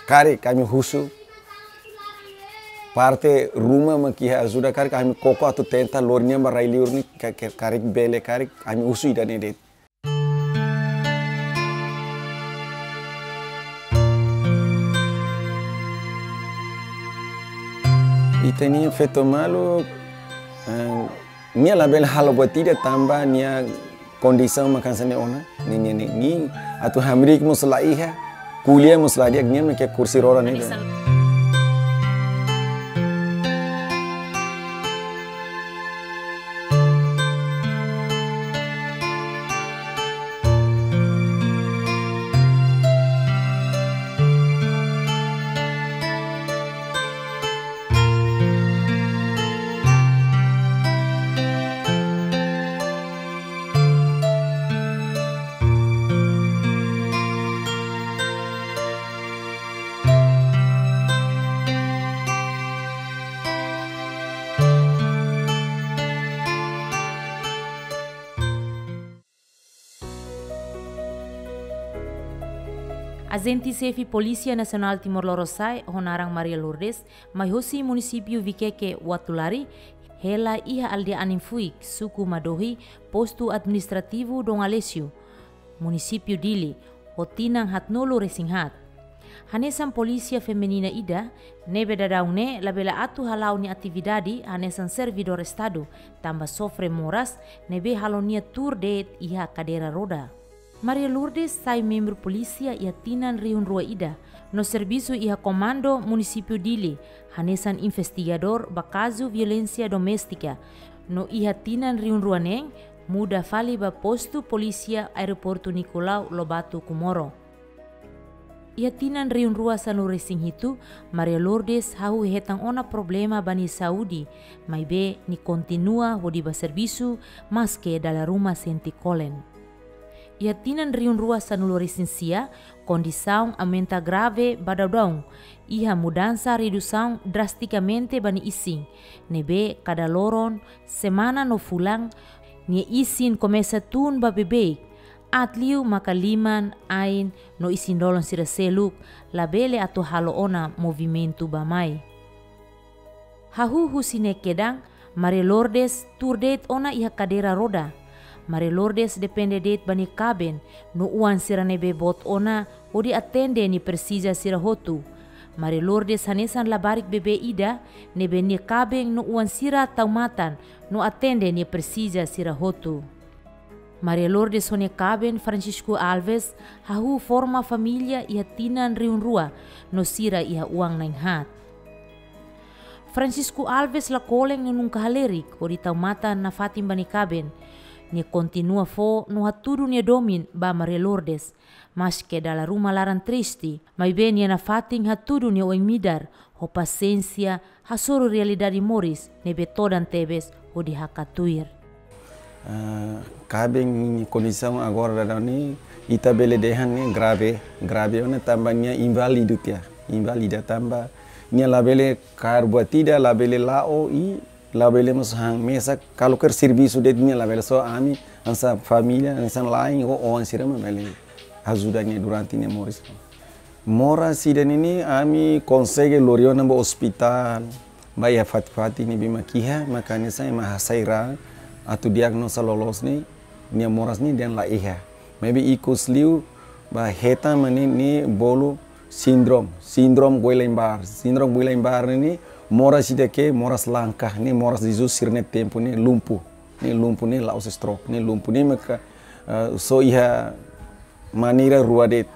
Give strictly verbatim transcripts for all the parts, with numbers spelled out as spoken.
karik ami husu. Parte ruma mak iha ajuda karik ami koko atu tenta lori nian ba rai-liur ne'e ka-, ka-, karik bele karik ami husu ida-ne'e de'it. Ita-nia feto maluk, eh, nia labele halo buat ida tanba nia kondisaun mak hanesan ne'e ona, nia, nia, nia, nia, atu hamriik mós la iha, ko'alia mós la di'ak, nia mak iha kursi roda ne'e. Ajente Xefe Polísia Nasionál Timor Lorosa'e ho naran Maria Lourdes, mai hosi munisípiu Viqueque Uatulari, hela iha aldeia Aninfuik, suku Madohi, postu administrativu Dom Aleixo, munisípiu Dili, ho tinan haatnulu-resin-haat. Hanesan polísia feminina ida, ne'ebé daudaun ne'e labele atu hala'o nia atividade hanesan servidór Estadu, tanba sofre moras, ne'ebé halo nia tuur de'it iha kadeira roda. Maria Lourdes sai membru polísia iha tinan rihun rua ida, no servisu iha Komandu Munisípiu Dili, hanesan investigadór ba kazu violénsia doméstika, no iha tinan rihun rua neen, muda fali ba postu polísia Aeroportu Nicolau Lobato Comoro. Iha tinan rihun rua sanulu-resin-hitu, Maria Lourdes hahú hetan ona problema ba nia saúde, maibé nia kontinua hodi ba servisu, maske dala ruma sente kolen. Iha tinan rihun rua sanulu-resin-sia, kondisaun aumenta grave ba daudaun, iha mudansa redusaun drastikamente ba nia isin, ne'ebé kada loron, semana no fulan, nia isin komesa tun ba beibeik, aat liu maka liman, ain, no isin-lolon sira seluk, labele atu halo ona movimentu bá-mai. Hahú husi ne'e kedan, Maria Lourdes tuur de'it ona iha kadeira roda. Maria Lourdes depende de'it ba nia kaben, no oan sira ne'ebé boot ona, hodi atende nia presiza sira hotu. Maria Lourdes hanesan labarik bebé ida, ne'ebé nia kaben no oan sira tau matan, no atende nia presiza sira hotu. Maria Lourdes ho nia kaben Francisco Alves, hahú forma família iha tinan rihun rua, no sira iha oan na'in-haat. Francisco Alves la kolen no nunka halerik, hodi tau matan nafatin ba nia kaben. Nia kontinua fó no hatudu nia domin ba Maria Lourdes. Maske dala ruma laran triste, maibé nia nafatin hatudu nia oin-midar, ho pasiénsia, hasoru realidade moris, ne'ebé todan tebes, hodi hakat tuir. Ah, kaben nia kondisaun agora daudaun ne'e, ita bele dehan ne'e grave, grave ona tanba nia inválidu tiha, inválida tanba nia labele kaer buat ida, labele la'o i labele mós han mesak, kualkér servisu de'it nia labele, só ami hanesan família, hanesan la'en, ho oan sira mak bele ajuda nia durante nia moris. Moras ida-ne'e ne'e ami konsege lori ona ba ospitál, ba iha fatin-fatin ne'ebé mak iha, maka hanesan ema hasai raan, atu diagnosa loloos ne'e, nia moras ne'e dehan la iha. Maibé ikus liu ba hetan mak ne'e, ne'e bolu síndrome, síndrome Guillain-Barré. Síndrome Guillain-Barré ne'e, ne'e moras ida ke, moras langka, ne'e moras Jesus sira-nia tempu ne'e lumpuh. Ne'e lumpuh ne'e la'ós stroke, ne'e lumpuh ne'e maka, eh, só iha maneira rua de'it.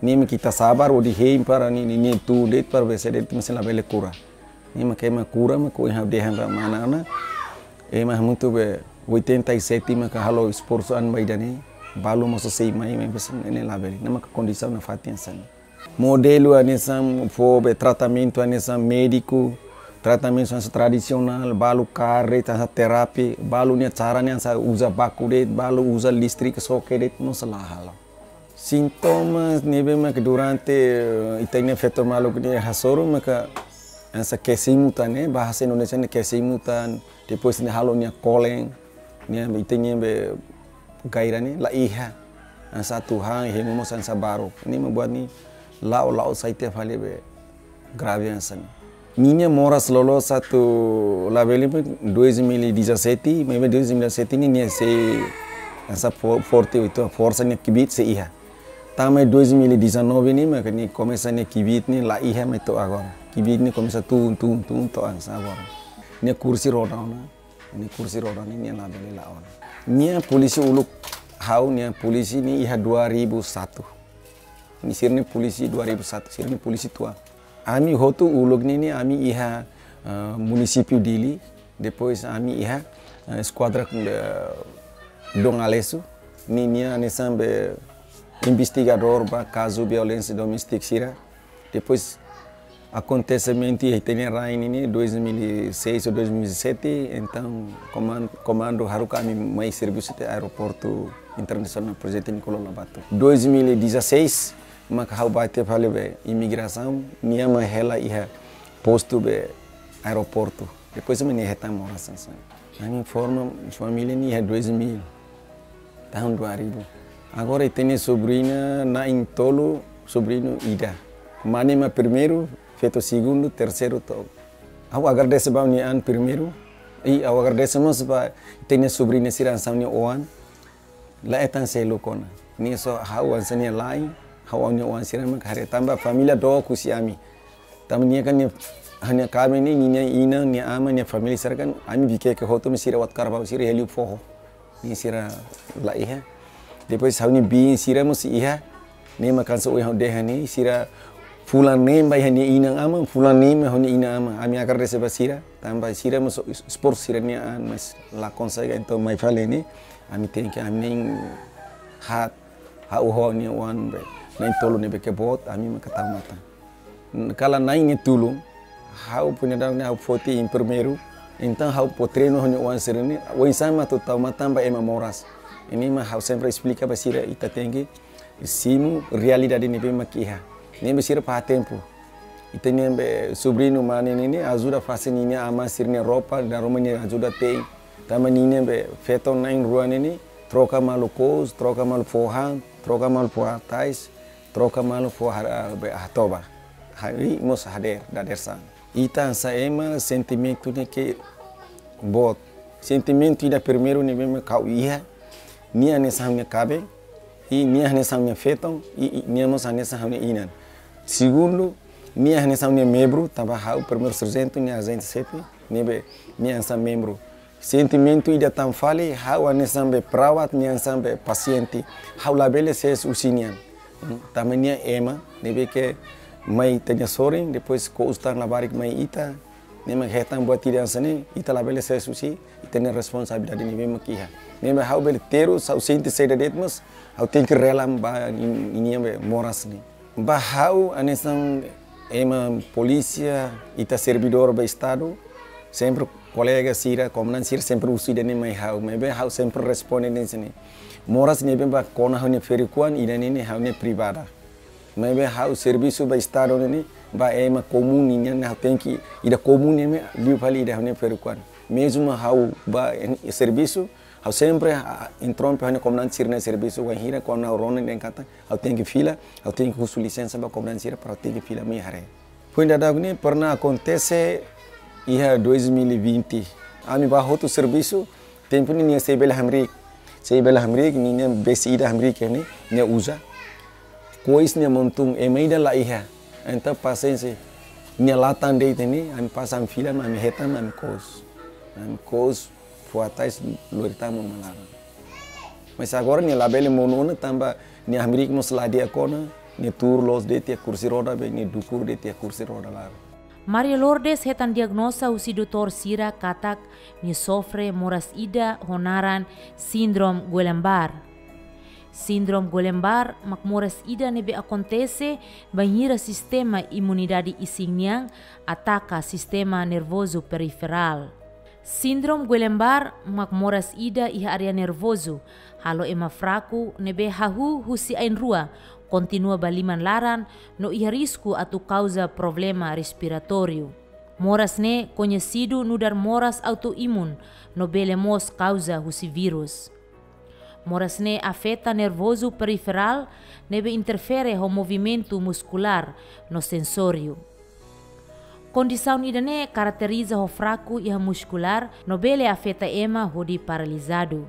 Ne'e mak ita sabar hodi hein para ne'e, ne'e, ne'e tun de'it para bese de'it, mas labele kura. Ne'e mak ema kura mak ohin ha'u dehan ba mana ona. Ema hamutuk be oitenta e sete maka halo esforsu an ba ida-ne'e. Balu mós sei mai, maibé ne'e labele. Ne'e maka kondisaun nafatin hanesan ne'e. Modelu hanesan fó be tratamentu hanesan médiku, tratamentu hanesan tradisionál, balu kaer de'it hanesan terapia, balu nia cara ne'e hanesan uza baku de'it, balu uza listrik xoke de'it, mós la halo. Sintomas ne'ebé mak durante, eh, ita-nia feto maluk ne'e hasoru maka hanesan kesemutan ne'e, bahasa Indonesia ne'e kesemutan, depois ne'e halo nia kolen, nia ita-nia be gairah ne'e la iha. Hanesan atu han, hemu mós hanesan baruk. Ne'e mak buat ne'e la'o, la'o sai tiha fali be grave hanesan ne'e. Ninia moras loloos atu labele be dois mil e dezassete, maibé dois mil e dezassete ne'e nia sei hanesan fo-, forte, ita forsa nia kbiit sei iha. Tanba dois mil e dezanove ne'e maka nia komesa nia kbiit ne'e la iha mai to'o agora. Kbiit ne'e komesa tun, tun, tun to'o hanesan agora. Nia kursi roda ona, nia kursi roda ne'e nia labele la'o ona. Nia polísia uluk ha'u, nia polísia ne'e iha dua ribu satu. Nia sira-nia polísia dua ribu satu, sira-nia polísia tua. Ami hotu uluk ne'e ne'e ami iha, eh, munisípiu Dili, depois ami iha, eh, eskuadra, eh, Dom Aleixo, ne'e nia hanesan be investigadór ba kazu violénsia doméstika sira. Depois akontesimentu iha ita-nia rain ne'e ne'e dois mil e seis ou dois mil e sete, entaun koman-, komandu haruka ami mai servisu iha Aeroportu Internasionál Prezidente Nicolau Lobato. Dois mil e dezasseis, maka ha'u bá tiha fali be imigrasaun, nia mak hela iha postu be aeroportu. Depois ami ne'e hetan moras hanesan ne'e. Ami forma família ne'e iha dois mil. Tahun dua ribu. Agora ita-nia sobriña na'in tolu, sobriñu ida. Mane mak primeiru, feto segundu, terseiru to'o. Ha'u agradese ba ha'u-nia an primeiru. I ha'u agradese mós ba ita-nia sobriña sira hanesan ha'u-nia oan. La hetan seluk ona. Nia só ha'u hanesan nia la'en, ha'u ha'u-nia oan sira mak haree tanba família dook husi ami. Tanba nia kan nia, ha'u-nia kaben ne'e, nia inan, nia aman, nia família sira kan, ami Vikeke hotu mak sira Uatucarbau sira iha liu foho. Nia sira la iha. Depois ha'u-nia biin sira mós iha. Ne'e mak hanesan ohin ha'u dehan ne'e, sira fulan neen ba iha nia inan-aman, fulan neen ba iha nia inan-aman. Ami agradese ba sira, tanba sira mós esforsu sira-nia an, mas la konsege, entaun mai fali ne'e, ami tenke, ami na'in haat, ha'u ho ha'u-nia oan be na'in tolu ne'ebé ke boot, ami maka tau matan. Kala na'in ne'e tulun, ha'u punadau ne'e ha'u foti em primeiru, entaun ha'u fó treinu ha'u-nia oan sira-ne'e, oinsá mak atu tau matan ba ema moras. Ne'e mak ha'u sempre esplika ba sira, ita tenke simu realidade ne'ebé mak iha. Ne'ebé sira fahe tempu. Ita-nia be sobriñu mane ne'e ne'e ajuda fase ninia aman sira-nia roupa, dala ruma nia ajuda te'in. Tanba ninia be feton na'in rua ne'e ne'e, troka malu kous, troka malu fó han, troka malu fó hatais, troka malu fó har-, be hatoba. Harii mós hadeer, dadeer-saan. Ita hanesan ema sentimentu ne'e ke boot. Sentimentu ida primeiru ne'ebé mak ha'u iha, nia hanesan ha'u-nia kaben, i nia hanesan ha'u-nia feton, i, i nia mós hanesan ha'u-nia inan. Segundu, nia hanesan ha'u-nia membru, tanba ha'u primeiru sarjentu, nia ajente xefe, ne'ebé nia hanesan membru. Sentimentu ida tan fali, ha'u hanesan be perawat, nia hanesan be pasiente. Ha'u labele sees husi nia an. Hmm, tanba nia ema, ne'ebé ke mai ita-nia sorin, depois kous tan labarik mai ita, ne'e mak hetan buat ida hanesan ne'e, ita labele sees husi, ita-nia responsabilidade ne'ebé mak iha. Ne'ebé ha'u bele terus, ha'u sente saida de'it mós, ha'u tenke rela ba ni-, ninia be moras ne'e. Ba ha'u hanesan ema polísia, ita servidór ba Estadu, sempre kolega sira, komandante sira sempre husu ida-ne'e mai ha'u, maibé ha'u sempre responde hanesan ne'e. Moras ne'ebé ba kona ha'u-nia ferik-oan, ida-ne'e ne'e ha'u-nia privada. Maibé ha'u servisu ba Estadu ne'e ne'e, ba ema komún nian ne'e ha'u tenke, ida komún ne'e mak liu fali ida ha'u-nia ferik-oan. Mezmu ha'u ba en-, servisu, ha'u sempre, ah, interrompe ha'u-nia komandante sira-nia servisu, wainhira kuandu ha'u rona dehan katak ha'u tenke fila, ha'u tenke husu lisensa ba komandante sira para ha'u tenke fila mai haree. Foin daudauk ne'e pernah akontese iha dois mil e vinte. Ami bá hotu servisu, tempu ne'e nia sei bele hamriik. Sei bele hamriik, ninia besi ida hamriik ne'e, nia uza. Kois nia montun, ema ida la iha. Entaun pasiénsia, nia la tan de'it ne'e, ami pasa ami fila, ami hetan, ami kous. Ami kous, fó hatais, lori tan monu mai laran. Mas agora nia labele monu ona tanba nia hamriik mós la di'ak ona, nia tuur loos de'it iha kursi roda be, nia dukur de'it iha kursi roda laran. Maria Lourdes hetan diagnoza husi doutór sira katak nia sofre moras ida ho naran Síndrome Guillain-Barré. Síndrome Guillain-Barré mak moras ida ne'ebé akontese bainhira sistema imunidade isin nian ataka sistema nervozu periferál. Síndrome Guillain-Barré mak moras ida iha área nervozu, halo ema fraku ne'ebé hahú husi ain-rua, kontinua ba liman laran no iha risku atu kauza problema respiratóriu. Moras ne'e koñesidu nu'udar moras autoimun no bele mós kauza husi vírus. Moras ne'e afeta nervozu periferál, ne'ebé interfere ho movimentu muskulár no sensóriu. Kondisaun ida-ne'e karakteriza ho fraku iha muskulár, no bele afeta ema hodi paralizadu.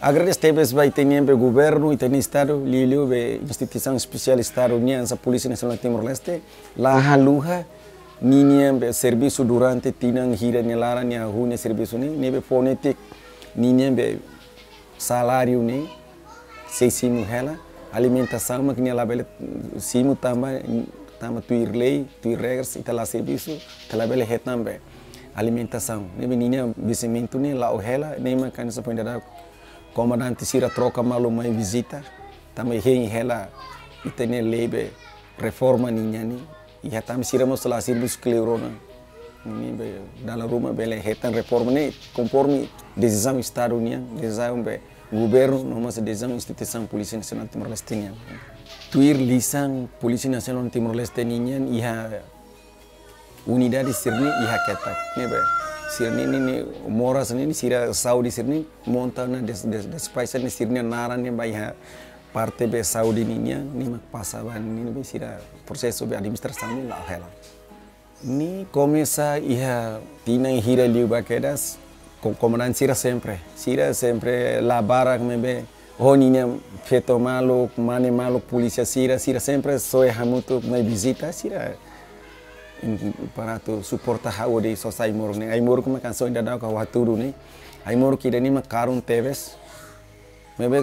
Agradese tebes ba ita-nia be governu, ita-nia Estadu, liuliu be instituisaun espesiál Estadu nian, hanesan Polísia Nasionál Timor-Leste, la haluha ninia be servisu durante tinan hira nia laran, nia hahú nia servisu ne'e, ne'ebé fó netik ninia be saláriu ne'e sei simu hela, alimentasaun mak nia labele simu tanba, tanba tuir lei, tuir regras, ita la servisu, ita labele hetan be alimentasaun. Ne'ebé ninia vencimentu ne'e la'o hela, ne'e mak hanesan foin dadauk komandante sira troka malu mai vizita, tanba hein hela ita-nia lei be reforma ninia ne'e, iha tanba sira mós la servisu kleur ona. Ne'ebé dala ruma bele hetan reforma ne'e konforme desizaun Estadu nian, desizaun be governu, no mós desizaun instituisaun Polísia Nasionál Timor-Leste nian. Tuir lisan Polísia Nasionál Timor-Leste nian iha unidade sira-ne'e iha ketak. Ne'ebé sira-ne'e, ne'e, ne'e moras ne'e, ne'e sira saúde sira-ne'e monta ona des-, des-, despaxa ne'e sira-nia naran ne'e ba iha parte be saúde nian, ne'e mak pasa ba ne'e, ne'ebé sira prosesu be administrasaun ne'e la'o hela. Ne'e komesa iha tinan hira liubá kedas, ko-, komandante sira sempre. Sira sempre la barak maibé ho ninia feto maluk, mane maluk, polísia sira, sira sempre soe hamutuk mai vizita, sira, mm, para atu suporta ha'u hodi sosa ai-moruk ne'e. Ai-moruk mak hanesan foin dadauk ha'u hatudu ne'e. Ai-moruk ida-ne'e mak karun tebes. Maibé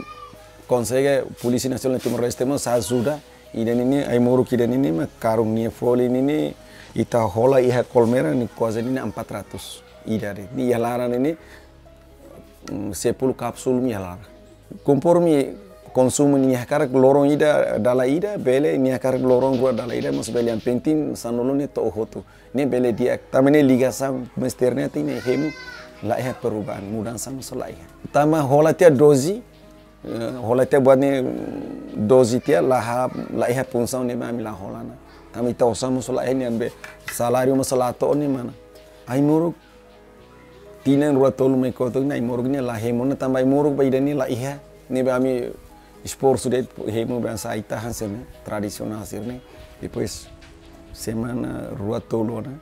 konsege Polísia Nasionál Timor-Leste mós ajuda. Ida-ne'e ne'e, ai-moruk ida-ne'e ne'e mak karun nia folin ne'e ne'e ita hola iha Kolmera ne'e kuaze ne'e ne'e empat ratus. Ida de'it. Ne'e iha laran ne'e ne'e, mm, sepuluh kapsul mak iha laran. Konforme konsumu nia hakarak loron ida dala ida, bele nia hakarak loron rua dala ida, mas bele yang penting sanulu ne'e to'o hotu. Ne'e bele di'ak, tanba ne'e ligasaun mester ne'e ita-nia hemu la iha perubahan, mudansa mós la iha. Tanba hola tiha doze, eh, hola tiha buat ne'e, mm, doze tiha la ha, la iha funsaun ne'ebé ami la hola ona. Tanba ita osan mós la iha, ne'ebé saláriu mós la to'o ne'e mana. Ai-moruk tinan rua tolu mai kotuk ne'e ai-moruk ne'e la hemu ona, tanba ai-moruk ba ida-ne'e la iha. Ne'ebé ami esforsu de'it hemu be hanesan ai-tahan sira-ne'e, tradisionál sira-ne'e. Depois semana rua tolu ona,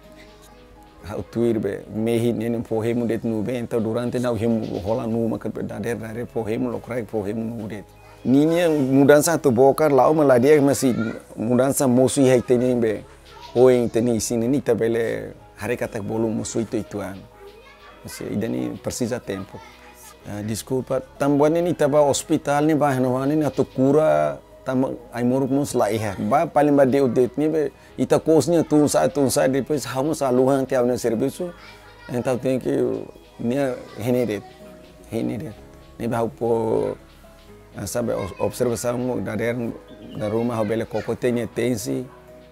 ha'u tuir be mehi ne'e ne'e fó hemu de'it nuu be, entaun durante ne'e ha'u hemu hola nuu maka be dadeer, dadeer fó hemu, lokraik fó hemu nuu de'it. Ninia mudansa atu boka la'o mak la di'ak, mas mudansa mosu iha ita-nia be oin ita-nia isin ne'e ita bele haree katak bolu mosu uitoan. Mas ida-ne'e presiza tempu. Ah, deskulpa, tanba ne'e ita ba ospitál ne'e ba hanoin ne'e atu kura, tanba ai-moruk mós la iha. Ba paling ba de'it de'it ne'ebé ita kous ne'e tun sa'e, tun sa'e, depois ha'u mós haluha tiha ha'u-nia servisu. Entaun tenke nia hein de'it, hein de'it. Ne'ebé ha'u fó, ah, sabe, os-, observasaun dadeer, dala ruma ha'u bele koko tiha nia tensi.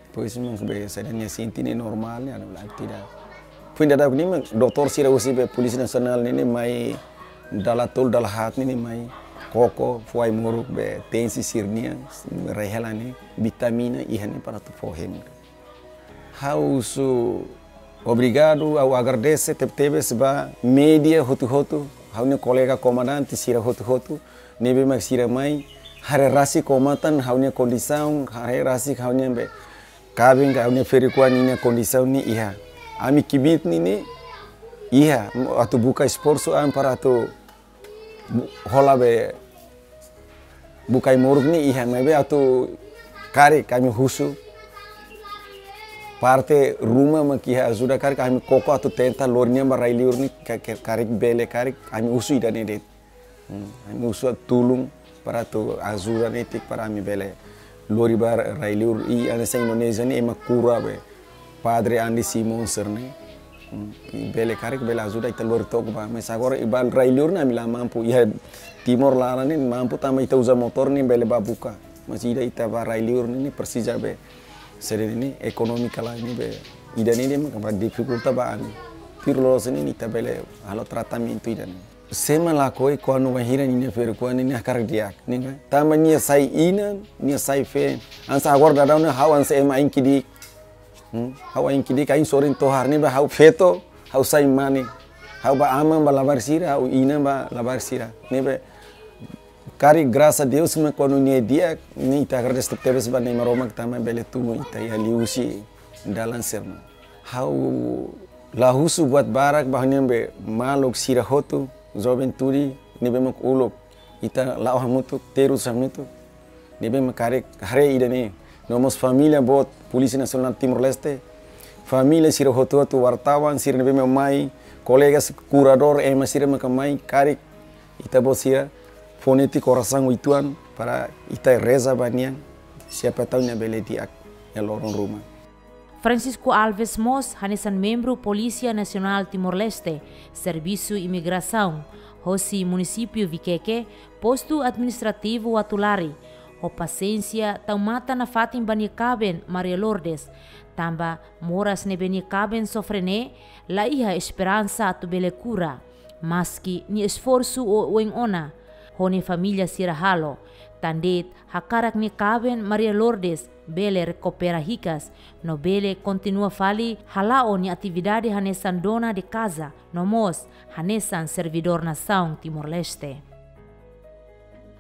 Depois mak be saida nia sente ne'e normál ne'e, anu la tidak. Foin dadauk ne'e mak doutór sira husi be Polísia Nasionál ne'e ne'e mai dala tolu dala haat ne'e ne'e mai koko, fó ai-moruk be tensi sira-nian, rai hela ne'e, vitamina iha ne'e para atu fó hemu. Ha'u husu obrigadu, ha'u agradese tebetebes ba média hotu-hotu, ha'u-nia kolega komandante sira hotu-hotu, ne'ebé mak sira mai haree rasik ho matan ha'u-nia kondisaun, haree rasik ha'u-nia be kaben ka ha'u-nia ferik-oan ninia kondisaun ne'e iha. Ami kbiit ne'e ne'e iha atu buka esforsu an para atu bu-, hola be buka ai-moruk ne'e iha, maibé atu karik ami husu parte ruma mak iha ajuda, karik ami koko atu tenta lori nia ba rai-liur ne'e ka-, ka-, karik bele, karik ami husu ida-ne'e de'it. Hmm, ami husu tulun para atu ajuda netik para ami bele lori ba rai-liur, i hanesan Indonézia ne'e ema kura be. Padre Andi Simon sira-ne'e. Hmm, i bele karik bele ajuda ita lori took ba. Mas agora iha rai-liur ne'e ami la mampu. Iha Timor laran ne'e mampu tanba ita uza motór ne'e bele ba buka. Mas ida ita ba rai-liur ne'e, ne'e presiza be. Sira-ne'e ekonomika la ne'e be. Ida-ne'e de'it mak ba difikulta ba ami. Tuir loloos ne'e ita bele halo tratamentu ida-ne'e. Sé mak lakohi kuandu bainhira ninia ferik-oan ne'e hakarak di'ak, ne'e ka? Tanba nia sai inan, nia sai feen. Hanesan agora daudaun ne'e ha'u hanesan ema ain ki'ik. Hmm? Ha'u ain ki'ik, ain sorin tohar, ne'ebé ha'u feto, ha'u sai mane. Ha'u ba aman ba labarik sira, ha'u inan ba labarik sira. Ne'ebé Karik grasa Deus mak kuandu nia di'ak, ne'e ita agradese tebes ba Nai Maromak tanba bele tun ita iha liuhusi dalan sira-ne'e. Ha'u la husu buat barak ba ha'u-nia maluk sira hotu, juventude ne'ebé mak uluk ita la'o hamutuk, terus hamutuk, ne'ebé mak karik haree ida-ne'e. No mós família boot Polísia Nasionál Timor-Leste, família sira hotu-hotu, wartawan sira ne'ebé mak mai, kolega kuradór, ema sira mak mai, karik ita-boot sira fó netik orasaun uitoan para ita reza ba nia, siapa tahu nia bele di'ak iha loron ruma. Francisco Alves mós hanesan membru Polísia Nasionál Timor-Leste, Servisu Imigrasaun, hosi munisípiu Viqueque, postu administrativu Uatulari, ho pasiénsia tau matan nafatin ba nia kaben Maria Lourdes, tanba moras ne'ebé nia kaben sofre ne'e, la iha esperansa atu bele kura. Maski nia esforsu oioin ona, ho nia família sira halo, tan de'it hakarak nia kaben Maria Lourdes bele rekupera hikas, no bele kontinua fali hala'o nia atividade hanesan dona de casa, no mós hanesan servidór nasaun Timor-Leste.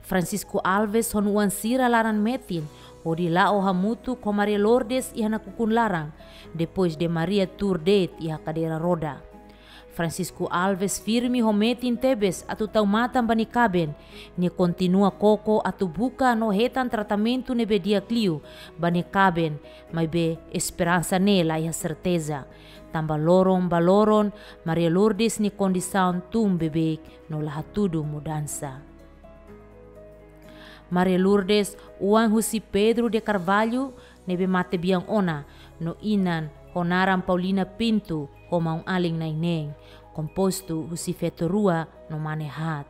Francisco Alves ho nia oan sira laran metin hodi la'o hamutuk ho Maria Lourdes iha nakukun laran, depois de Maria tuur de'it iha kadeira roda. Francisco Alves firme ho metin tebes atu tau matan ba nia kaben, nia kontinua koko atu buka no hetan tratamentu ne'ebé di'ak liu ba nia kaben, maibé esperansa ne'e la iha serteza. Tanba loron ba loron, Maria Lourdes nia kondisaun tun beibeik no la hatudu mudansa. Maria Lourdes, oan husi Pedro de Carvalho, ne'ebé mate bian ona, no inan ho naran Paulina Pinto, ho maun-alin na'in-neen, kompostu husi feto rua no mane haat.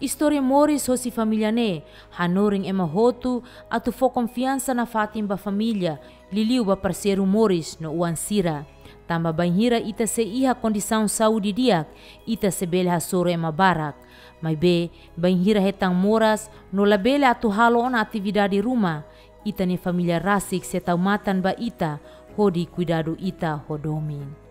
Istória moris hosi família ne'e hanorin ema hotu atu fó konfiansa nafatin ba família, liuliu ba parseiru moris no oan sira. Tanba bainhira ita sei iha kondisaun saúde di'ak, ita sei bele hasoru ema barak. Maibé, bainhira hetan moras no labele atu halo ona atividade ruma, ita-nia família rasik sei tau matan ba ita, hodi kuidadu ita ho domin.